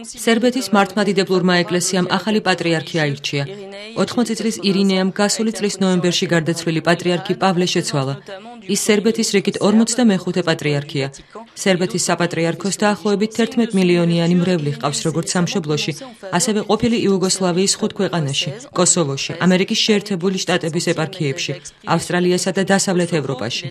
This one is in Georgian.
სერბეთის მართლმადიდებლურმა ეკლესიამ ახალი პატრიარქი აირჩია. 80 წლის ირინეამ გასული წლის ნოემბერში გარდაცვლილი პატრიარქი პავლე შეცვალა. ის სერბეთის რიგით 45 პატრიარქია. სერბეთის საპატრიარქოს დაახლოებით 11 მილიონიანი მრევლი ჰყავს როგორც სამშობლოში, ასევე ყოფილი იუგოსლავიის 5 ქვეყანაში, კოსოვოში, ამერიკის შეერთებული შტატების ეპარქიებში, ავსტრალიასა და დასავლეთ ევროპაში.